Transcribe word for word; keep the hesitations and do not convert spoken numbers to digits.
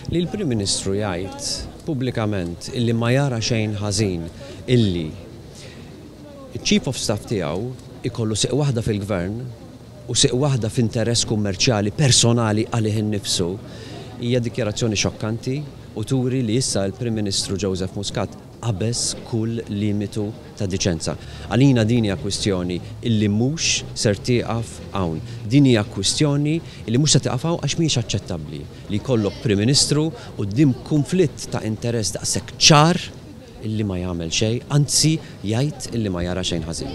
Li l-Prim Ministru jgħid pubblikament illi ma jara xejn ħażin illi il-Chief of Staff tiegħu ikollu sieq waħda fil-gvern u sieq waħda f'interess kummerċjali personali għalih innifsu hija dikjarazzjoni xokkanti u turi li issa l-Prim Ministru Joseph Muscat qabeż kull limitu ta' diċenza. Għalina din hija kwistjoni illi mhux ser tieqaf hawn. Din hija kwistjoni illi mhux se tieqaf hawn għax mhijiex aċċettabbli li jkollok Prim Ministru quddiem konflitt ta' interess daqshekk ċar illi ma jagħmel xejn, anzi jgħid illi ma jara xejn ħażin.